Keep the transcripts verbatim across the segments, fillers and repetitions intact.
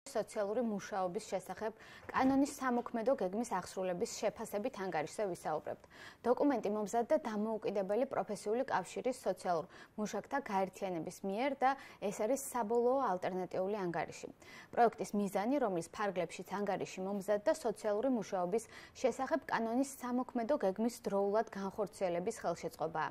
სოციალური მუშაობის შესახებ კანონის სამოქმედო გეგმის აღსრულების შეფასებით ანგარიშზე ვისაუბრებთ. დოკუმენტი მომზადდა დამოუკიდებელი პროფესიული კავშირის სოციალურ მუშაკთა გაერთიანების მიერ და ეს არის საბოლოო ალტერნატიული ანგარიში. პროექტის მიზანი, რომლის ფარგლებშიც ანგარიში მომზადდა, სოციალური მუშაობის შესახებ კანონის სამოქმედო გეგმის დროულად განხორციელების ხელშეწყობაა.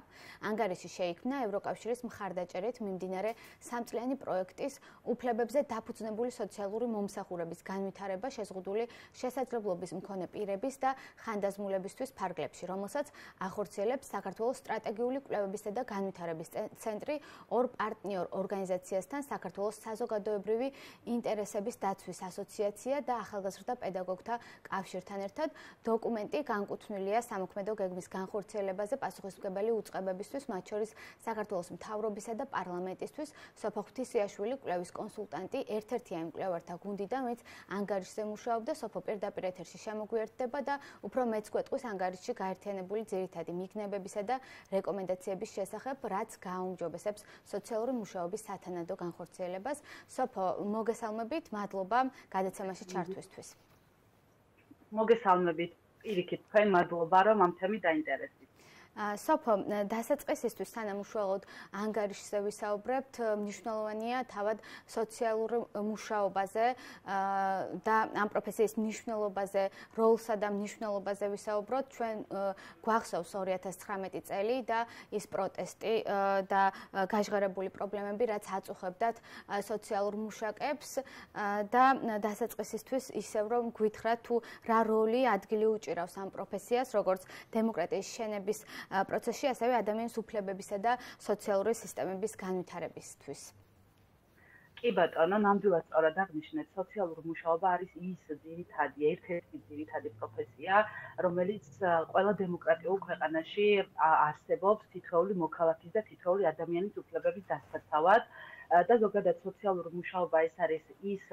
ანგარიში შეიქმნა ევროკავშირის მხარდაჭერით მიმდინარე სამწლიანი პროექტის უფლებებზე დაფუძნებული სოციალური მომსახურების განვითარება შეზღუდული შესაძლებლობის მქონე პირების და ხანდაზმულებისთვის ფარგლებში, რომელსაც ახორციელებს საქართველოს სტრატეგიული კვლევებისა და განვითარების ცენტრი ორ პარტნიორ ორგანიზაციასთან, საქართველოს საზოგადოებრივი ინტერესების დაცვის ასოციაცია და ახალგაზრდა პედაგოგთა კავშირთან ერთად. დოკუმენტი განკუთვნილია სამოქმედო გეგმის განხორციელებაზე პასუხისმგებელი უწყებებისთვის, მათ შორის საქართველოს მთავრობისა და პარლამენტისთვის. სოფო ღვთისიაშვილი, კვლევის კონსულტანტი, ერთ-ერთი ამ მკვლევართა გუნდიდან, ვინც ანგარიშზე მუშაობდა, სოფო პირდაპირ ეთერში შემოგვიერთდება და უფრო მეც გვეტყვის ანგარიშში გაერთიანებული ძირითადი მიგნებებისა და რეკომენდაციების შესახებ, რაც გააუმჯობესებს სოციალური მუშაობის სათანადო განხორციელებას. სოფო, მოგესალმებით, მადლობა გადაცემაში ჩართვისთვის. მოგესალმებით, პირიქით, თქვენ მადლობა, რომ ამ თემით დაინტერესდით. სოფო, დასაწყისისთვის სანამ უშუალოდ ანგარიშზე ვისაუბრებთ, მნიშვნელოვანია თავად სოციალურ მუშაობაზე და ამ პროფესიის მნიშვნელობაზე, როლსა და მნიშვნელობაზე ვისაუბროთ. ჩვენ გვახსოვს ორი ათას ცხრამეტი წელი და ის პროტესტი და გაჟღერებული პრობლემები, რაც აწუხებდათ სოციალურ მუშაკებს და დასაწყისისთვის ისევ რომ გვითხრათ თუ რა როლი ადგილი უჭირავს ამ პროფესიას, როგორც დემოკრატიის შენების პროცესში, ასევე ადამიანის უფლებებისა და სოციალური სისტემების განვითარებისთვის. კი ბატონო, ნამდვილად სწორად აღნიშნეთ, სოციალური მუშაობა არის ის ძირითადი, ერთ-ერთი ძირითადი პროფესია, რომელიც ყველა დემოკრატიულ ქვეყანაში არსებობს თითოეული მოქალაქის და თითოეული ადამიანის უფლებების დასაცავად. და ზოგადად სოციალური მუშაობა ეს არის ის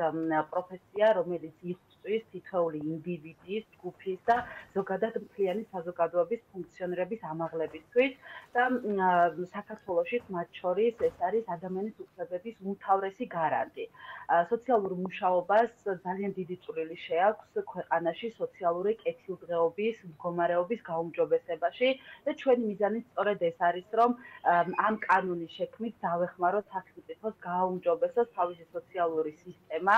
პროფესია, რომელიც იღწვის თითოეული ინდივიდის, ჯგუფის და ზოგადად მთლიანი საზოგადოების ფუნქციონირების ამაღლებისთვის და საქართველოში მათ შორის ეს არის ადამიანის უფლებების უმთავრესი გარანტი. სოციალურ მუშაობას ძალიან დიდი წვლილი შეაქვს ქვეყანაში სოციალური კეთილდღეობის, მდგომარეობის გაუმჯობესებაში და ჩვენი მიზანი სწორედ ეს არის, რომ ამ კანონის შექმნით დავეხმაროთ სახელმწიფოს გააუმჯობესოს თავისი სოციალური სისტემა,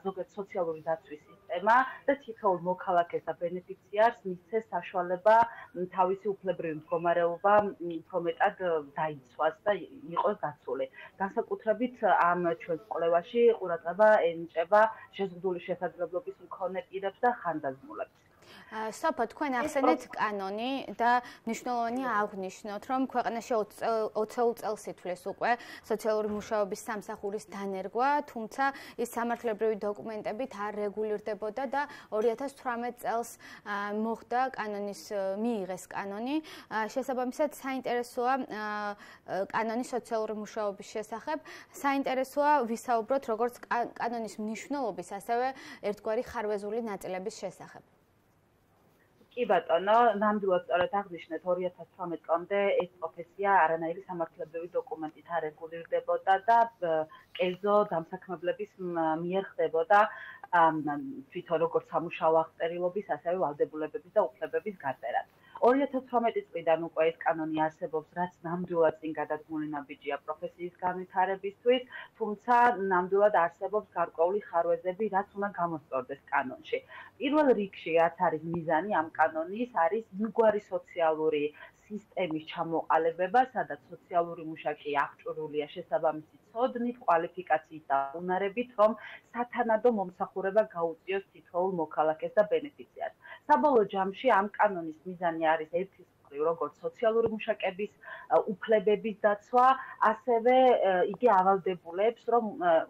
ზოგადად სოციალური დაცვის სისტემა და თითოეულ მოქალაქეს და ბენეფიციარს მისცეს საშუალება თავისი უფლებრივი მდგომარეობა უფრო მეტად დაიცვას და იყოს დაცული. განსაკუთრებით ამ ჩვენს კვლევაში ყურადღება ენიჭება შეზღუდული შესაძლებლობის მქონე პირებს და ხანდაზმულებს. სოფო, თქვენ ახსენეთ კანონი და მნიშვნელოვანია აღვნიშნოთ, რომ ქვეყანაში ოცეულ წელს ითვლის უკვე სოციალური მუშაობის სამსახურის დანერგვა, თუმცა ის სამართლებრივი დოკუმენტებით არ რეგულირდებოდა და ორი ათას ცხრამეტ წელს მოხდა კანონის მიიღეს კანონი. შესაბამისად, საინტერესოა კანონის სოციალური მუშაობის შესახებ, საინტერესოა ვისაუბროთ როგორც კანონის მნიშვნელობის, ასევე ერთგვარი ხარვეზული ნაწილების შესახებ. კი ბატონო, ნამდვილად სწორად აღნიშნეთ, ორი ათას ცხრამეტ წლამდე ეს პროფესია არანაირი სამართლებრივი დოკუმენტით არ რეგულირდებოდა და კერძო დამსაქმებლების მიერ ხდებოდა თვითონ როგორც სამუშაო აღწერილობის, ასევე ვალდებულებების და უფლებების გაწერა. ორი ათას ცხრამეტი წლიდან უკვე ეს კანონი არსებობს, რაც ნამდვილად წინ გადადგმული ნაბიჯია პროფესიის განვითარებისთვის, თუმცა ნამდვილად არსებობს გარკვეული ხარვეზები, რაც უნდა გამოსწორდეს კანონში. პირველ რიგში, რაც არის მიზანი ამ კანონის, არის იმგვარი სოციალური სისტემის ჩამოყალიბება, სადაც სოციალური მუშაკი აღჭურვილია შესაბამისი ცოდნით, კვალიფიკაციით და უნარებით, რომ სათანადო მომსახურება გაუწიოს თითოეულ მოქალაქეს და ბენეფიციარს. საბოლოო ჯამში ამ კანონის მიზანი არის ერთის როგორც სოციალური მუშაკების უფლებების დაცვა, ასევე იგი ავალდებულებს, რომ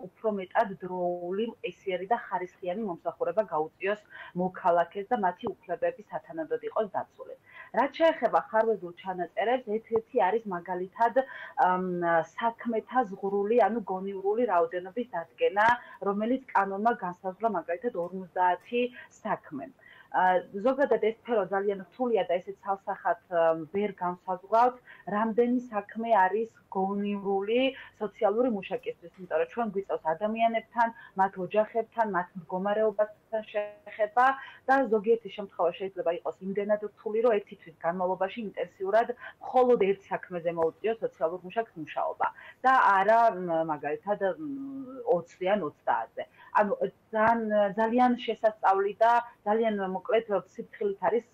უფრო მეტად დროული, ესიერი და ხარისხიანი მომსახურება გაუწიოს მოქალაქეს და მათი უფლებები სათანადოდ იყოს დაცული. რაც შეეხება ხარვეზულ ჩანაწერებს, ერთ-ერთი არის მაგალითად საქმეთა ზღვრული, ანუ გონივრული რაოდენობის დადგენა, რომელიც კანონმა განსაზღვრა მაგალითად ორმოცდაათი საქმე. ზოგადად ეს სფერო ძალიან რთულია და ესეც ცალსახად ვერ განსაზღვრავთ, რამდენი საქმე არის გონივრული სოციალური მუშაკისთვის, იმიტომ რომ ჩვენ გვიწევს ადამიანებთან, მათ ოჯახებთან, მათ მდგომარეობასთან შეხება და ზოგიერთი შემთხვევა შეიძლება იყოს იმდენად რთული, რომ ერთი თვის განმავლობაში ინტენსიურად მხოლოდ ერთ საქმეზე მოუწიო სოციალურ მუშაკს მუშაობა და არა მაგალითად ოცი ან ოცდაათზე. ანუ ძალიან შესასწავლი და ძალიან მოკლედ სიფრთხილით არის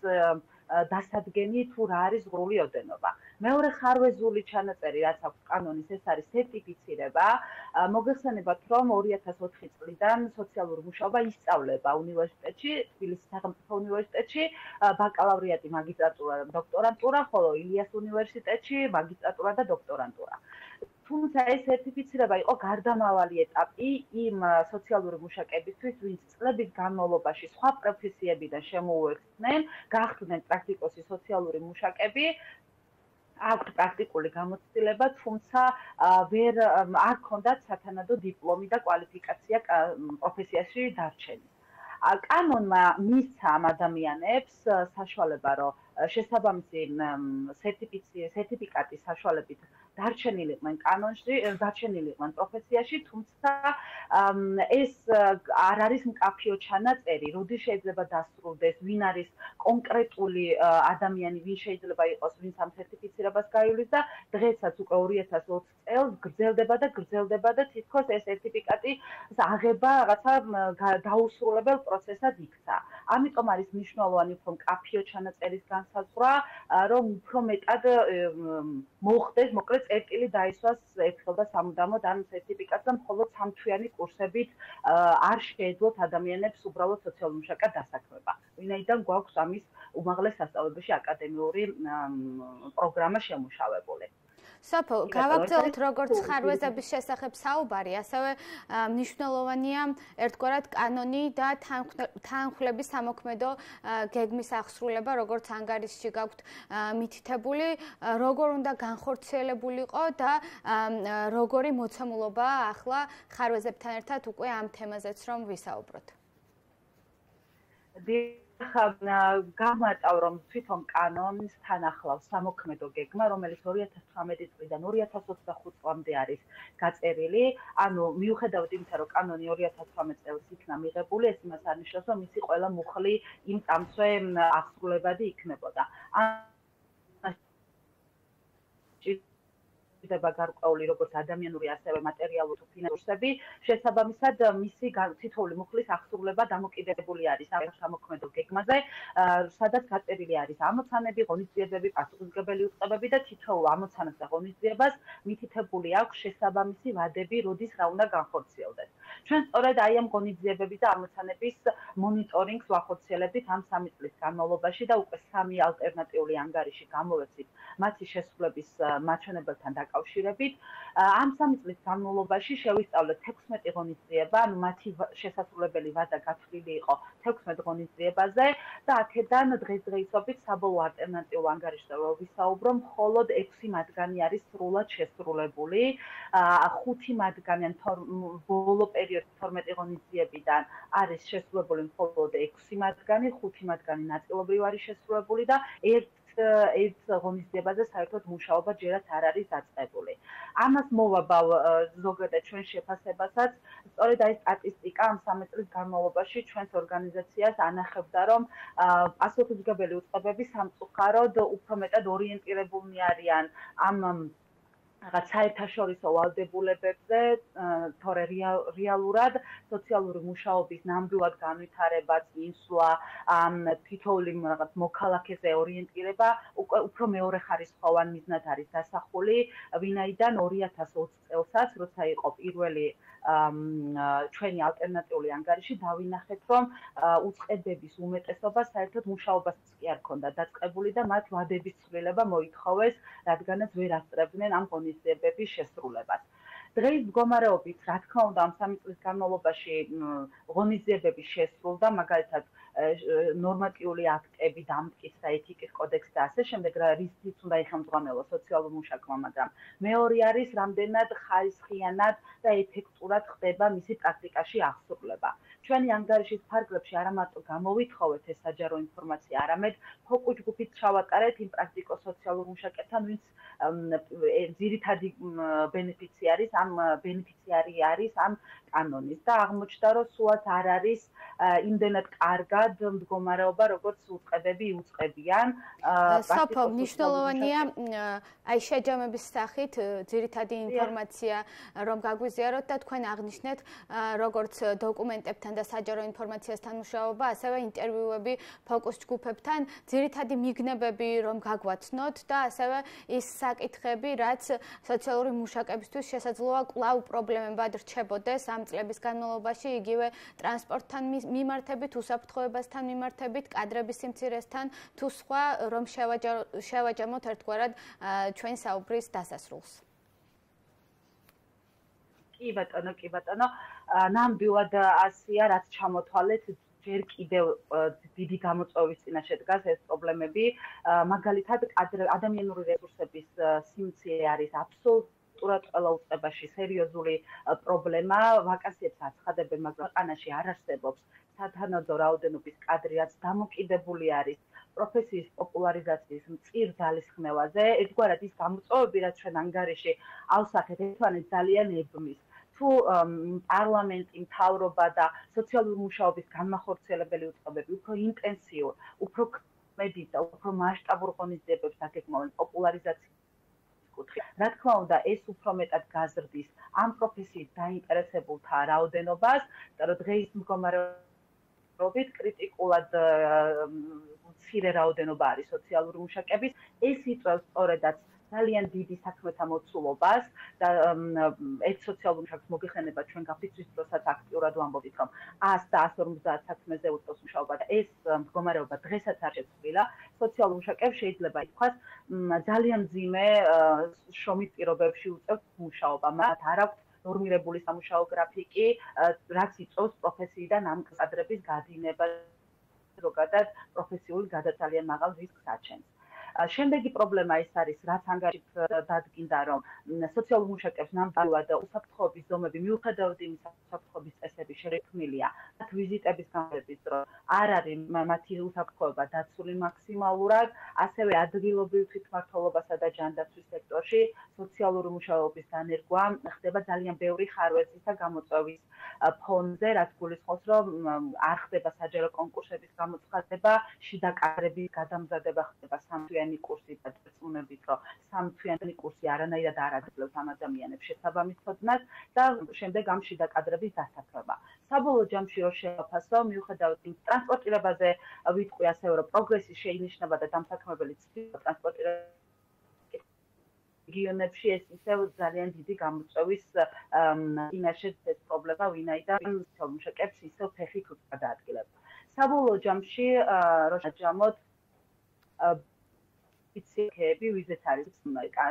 დასადგენი თუ რა არის ღრული ოდენობა. მეორე ხარვეზული ჩანაწერი, რაც აქვს კანონის, ეს არის სერტიფიცირება. მოგეხსენებათ, რომ ორი ათას ოთხი წლიდან სოციალური მუშაობა ისწავლება უნივერსიტეტში, თბილისის სახელმწიფო უნივერსიტეტში, ბაკალავრიატი, მაგისტრატურა და დოქტორანტურა, ხოლო ილიას უნივერსიტეტში მაგისტრატურა და დოქტორანტურა. თუმცა ეს სერტიფიცირება იყო გარდამავალი ეტაპი იმ სოციალური მუშაკებისთვის, ვინც წლების განმავლობაში სხვა პროფესიებიდან შემოუერთდნენ, გახდნენ პრაქტიკოსი სოციალური მუშაკები, აქვთ პრაქტიკული გამოცდილება, თუმცა ვერ არ ჰქონდათ სათანადო დიპლომი და კვალიფიკაცია პროფესიაში დარჩენის. კანონმა მისცა ამ ადამიანებს საშუალება, რომ შესაბამისი სერტიფიკატის საშუალებით დარჩენილიყვნენ კანონში, დარჩენილიყვნენ პროფესიაში, თუმცა ეს არ არის მკაფიო ჩანაწერი, როდის შეიძლება დასრულდეს, ვინ არის კონკრეტული ადამიანი, ვინ შეიძლება იყოს, ვინც ამ სერტიფიცირებას გაივლის და დღესაც უკვე ორი ათას ოცი წელს გრძელდება და გრძელდება და თითქოს ეს სერტიფიკატი აღება რაღაცა დაუსრულებელ პროცესად იქცა. ამიტომ არის მნიშვნელოვანი უფრო მკაფიო ჩანაწერის განსაზღვრა, რომ უფრო მეტად მოხდეს, მოკლედ წერტილი დაისვას ერთხელ და სამუდამოდ ამ სერტიფიკატს და მხოლოდ სამთვიანი კურსებით არ შეეძლოთ ადამიანებს უბრალოდ სოციალურ მუშაკად დასაქმება. ვინაიდან გვაქვს ამის უმაღლეს სასწავლებელში აკადემიური პროგრამა შემუშავებული. სოფო, გავაგრძელოთ როგორც ხარვეზების შესახებ საუბარი, ასევე მნიშვნელოვანია ერთგვარად კანონი და თანხმლების სამოქმედო გეგმის აღსრულება, როგორც ანგარიშში გაქვთ მითითებული, როგორ უნდა განხორციელებულიყო და როგორი მოცემულობაა ახლა ხარვეზებთან ერთად უკვე ამ თემაზეც რომ ვისაუბროთ. გამარტავ რომ თვითონ კანონის თან ახლავს სამოქმედო გეგმა, რომელიც ორი ათას ცხრამეტი წლიდან ორი ათას ოცდახუთ წლამდე არის გაწერილი. ანუ მიუხედავად იმისა, რომ კანონი ორი ათას ცხრამეტ წელს იქნა მიღებული, ეს იმას არნიშნავს, რომ მისი ყველა მუხლი იმ წამსვე აღსრულებადი იქნებოდა. დება გარკვეული როგორც ადამიანური, ასევე მატერიალური ფინანსები, შესაბამისად მისი თითოეული მუხლის აღსრულება დამოკიდებული არის ამ სამოქმედო გეგმაზე, სადაც გაწერილი არის ამოცანები, ღონისძიებები, პასუხისმგებელი უწყებები და თითოეულ ამოცანას და ღონისძიებას მითითებული აქვს შესაბამისი ვადები, როდის რა უნდა განხორციელდეს. ჩვენ სწორედ აი ამ ღონისძიებების და ამოცანების მონიტორინგს ვახორციელებდით ამ სამი წლის განმავლობაში და უკვე სამი ალტერნატიული ანგარიში გამოვეცით მათი შესრულების მაჩვენებელთან დაკავშირებით. ამ სამი წლის განმავლობაში შევისწავლეთ თექვსმეტი ღონისძიება, ანუ მათი შესასრულებელი ვადა გათვლილი იყო თექვსმეტ ღონისძიებაზე და აქედან დღესდღეობით საბოლოო ალტერნატიულ ანგარიშზე ვისაუბრო, მხოლოდ ექვსი მათგანი არის სრულად შესრულებული. ხუთი მათგანი ბოლო პერიოდის თორმეტი ღონისძიებიდან არის შესრულებული მხოლოდ ექვსი მათგანი, ხუთი მათგანი ნაწილობრივ არის შესრულებული და ერთ ერთ ღონისძიებაზე საერთოდ მუშაობა ჯერაც არ არის დაწყებული. ამას მოვაბავ ზოგადად ჩვენ შეფასებასაც, სწორედ აი სტატისტიკა ამ სამი წლის განმავლობაში ჩვენს ორგანიზაციას ანახებდა, რომ პასუხისმგებელი უწყებები სამწუხაროდ უფრო მეტად ორიენტირებულნი არიან ამ რაღაც საერთაშორისო ვალდებულებებზე, თორე რეალურად სოციალური მუშაობის ნამდვილად განვითარება, წინსვლა, თითოეული რაღაც მოქალაქეზე ორიენტირება უკვე უფრო მეორეხარისხოვან მიზნად არის დასახული, ვინაიდან ორი ათას ოცი წელსაც, როცა იყო პირველი ჩვენი ალტერნატიული ანგარიში, დავინახეთ, რომ უწყებების უმეტესობა საერთოდ მუშაობასაც კი არ ქონდა დაწყებული და მათ ვადების ცვლილება მოითხოვეს, რადგანაც ვერ ასწრებდნენ ამ ღონისძიებების შესრულებას. დღეს მდგომარეობით, რა თქმა უნდა, ამ სამი წლის განმავლობაში ღონისძიებები შესრულდა, მაგალითად ნორმატიული აქტები, დამტკიცდა ეთიკის კოდექსი და ასე შემდეგ, რისიც უნდა იხელმძღვანელოს სოციალურ მუშაკმა, მაგრამ მეორე არის რამდენად ხარისხიანად და ეფექტურად ხდება მისი პრაქტიკაში აღსრულება. ჩვენი ანგარიშის ფარგლებში არა მარტო გამოვითხოვეთ ეს საჯარო ინფორმაცია, არამედ ფოკუს ჯგუფით ჩავატარეთ იმ პრაქტიკოს სოციალურ მუშაკებთან, ვინც ძირითადი ბენეფიციარის ამ ბენეფიციარი არის ამ კანონის და აღმოჩნდა, რომ სულაც არ არის იმდენად კარგად მდგომარეობა, როგორც უწყებები იუწყებიან. სოფო, მნიშვნელოვანია აი შეჯამების სახით ძირითადი ინფორმაცია რომ გაგვიზიაროთ და თქვენ აღნიშნეთ როგორც დოკუმენტებთან და საჯარო ინფორმაციასთან მუშაობა, ასევე ინტერვიუები ფოკუს ჯგუფებთან, ძირითადი მიგნებები რომ გაგვაცნოთ და ასევე ის საკითხები, რაც სოციალური მუშაკებისთვის შესაძლოა კვლავ პრობლემებად რჩებოდეს ამ წლების განმავლობაში, იგივე ტრანსპორტთან მიმართებით, უსაფრთხოებასთან მიმართებით, კადრების სიმცირესთან თუ სხვა, რომ შევაჯამოთ ერთგვარად ჩვენ საუბრის დასასრულს. კი ბატონო, კი ბატონო, ნამდვილად ასია, რაც ჩამოთვალეთ, ჯერ კიდევ დიდი გამოწვევის წინაშე დგას ეს პრობლემები. მაგალითად, ადამიანური რესურსების სიმცირე არის აბსოლუტურად ყველა უწყებაში სერიოზული პრობლემა. ვაკანსიებს აცხადებენ, მაგრამ ქვეყანაში არ არსებობს სათანადო რაოდენობის კადრი, რაც დამოკიდებული არის პროფესიის პოპულარიზაციის მწირ ძალისხმევაზე. ერთგვარად ის გამოწვევები, რაც ჩვენ ანგარიში ავსახეთ, ერთმანეთს ძალიან ებმის. თუ პარლამენტი, მთავრობა და სოციალური მუშაობის განმახორციელებელი უწყებები უფრო ინტენსიურ, უფრო მეტი და უფრო მასშტაბურ ღონისძიებებს აგეგმავენ პოპულარიზაციის კუთხით. რა თქმა უნდა, ეს უფრო მეტად გაზრდის ამ პროფესიით დაინტერესებულთა რაოდენობას, და რომ დღეის მდგომარეობით კრიტიკულად მცირე რაოდენობა არის სოციალური მუშაკების, ეს იწვევს სწორედაც ძალიან დიდი საქმეთა მოცულობას და ერთ სოციალურ მუშაკს მოგეხსენება ჩვენ გაფიცვის დროსაც აქტიურად ვამბობთ, რომ ას და ას ორმოცდაათ საქმეზე უწევს მუშაობა და ეს მდგომარეობა დღესაც არ შეცვლილა. სოციალურ მუშაკებს შეიძლება ითქვას ძალიან მძიმე შრომის პირობებში უწევს მუშაობა. მათ არ აქვს ნორმირებული სამუშაო გრაფიკი, რაც იწვევს პროფესიიდან ამ კადრების გადინება, ზოგადად პროფესიული გადაცალიან მაღალ რისკს აჩენს. შემდეგი პრობლემა ის არის, რაც ანგარიშით დადგინდა, რომ სოციალურ მუშაკებს ნამდვილად უსაფრთხოების ზომები მიუხედავად იმისა, რომ უსაფრთხოების წესები შერქმნილია, მათ ვიზიტების გამგებლობის დროს არ არის მათი უსაფრთხოება დაცული მაქსიმალურად, ასევე ადგილობრივ თვითმმართველობასა და ჯანდაცვის სექტორში სოციალური მუშაობის დანერგვა ხდება ძალიან ბევრი ხარვეზის და გამოწვევის ფონზე, რაც გულისხმობს, რომ არ ხდება საჯარო კონკურსების გამოცხადება, შიდა კადრების გადამზადება ხდება სამთვიანი კურსი და წუნებით, რომ სამთვიანი კურსი არანაირად არ აძლევს ამ ადამიანებს შესაბამის ცოდნას და შემდეგ ამ შიდა კადრების დასაქმება. საბოლოო ჯამში რო შევაფასო, მიუხედავად იმ ტრანსპორტირებაზე ვიტყვი ასევე, რომ პროგრესი შეინიშნება და დამსაქმებელი ცდილობა ტრანსპორტირება რეგიონებში ეს ისევ ძალიან დიდი გამოწვევის წინაშე ეს პრობლემა, ვინაიდან სოციალურ მუშაკებს ისევ ფეხით უწადაადგილებს. საბოლოო ჯამში რო შეჯამოთ ფიციქები, ვიზეთ არის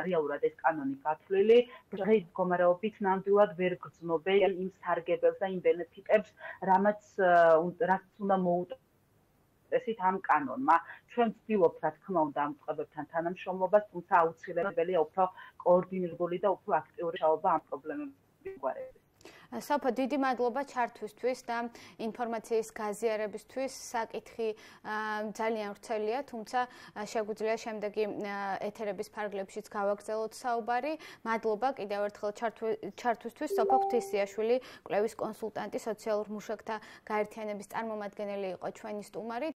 რეალურად ეს კანონი გათვლილი, დღის მდგომარეობით ნამდვილად ვერ გრძნობენ იმ სარგებელს და იმ ბენეფიტებს, რამაც რაც უნდა მოუწესით ამ კანონმა. ჩვენ ვცდილობთ, რა თქმა უნდა, ამ წყებებთან თანამშრომლობას, თუმცა აუცილებელია უფრო კოორდინირებული და უფრო აქტიური მუშაობა ამ პრობლემების გვარებით. სოფო, დიდი მადლობა ჩართვისთვის და ინფორმაციის გაზიარებისთვის. საკითხი ძალიან ვრცელია, თუმცა შეგვიძლია შემდეგი ეთერების ფარგლებშიც გავაგრძელოთ საუბარი. მადლობა კიდევ ერთხელ ჩართვისთვის. სოფო ღვთისიაშვილი, კვლევის კონსულტანტი, სოციალურ მუშაკთა გაერთიანების წარმომადგენელი იყო ჩვენი სტუმარი.